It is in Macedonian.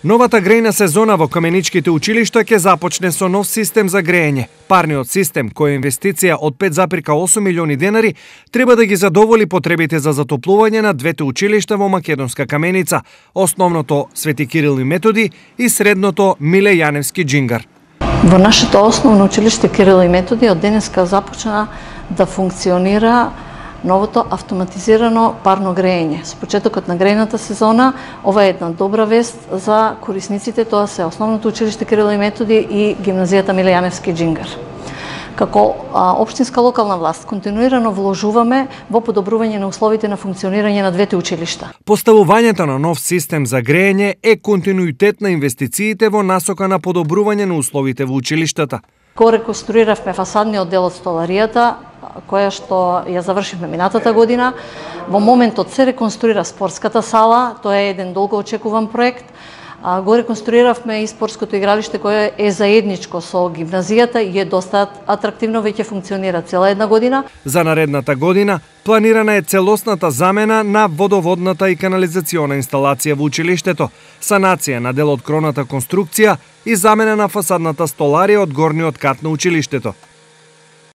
Новата грејна сезона во каменичките училишта ќе започне со нов систем за грејење. Парниот систем, кој е инвестиција од 5,8 милиони денари, треба да ги задоволи потребите за затоплување на двете училишта во Македонска Каменица, основното Свети Кирил и Методи и средното Миле Јаневски Џингар. Во нашето основно училиште Кирил и Методи од денеска започна да функционира новото автоматизирано парно грејење. Со почетокот на грејната сезона, ова е една добра вест за корисниците, тоа се основното училиште Кирил и Методи и гимназијата Миле Јаневски Џингар. Како општинска локална власт, континуирано вложуваме во подобрување на условите на функционирање на двете училишта. Поставувањето на нов систем за грејење е континуитет на инвестициите во насока на подобрување на условите во училиштата. Го реконструиравме фасадниот дел од столаријата, која што ја завршивме минатата година. Во моментот се реконструира спортската сала, тоа е еден долго очекуван проект. Го реконструиравме и спортското игралиште кое е заедничко со гимназијата и е доста атрактивно, веќе функционира цела една година. За наредната година планирана е целосната замена на водоводната и канализациона инсталација во училиштето, санација на дел од кроната конструкција и замена на фасадната столарија од горниот кат на училиштето.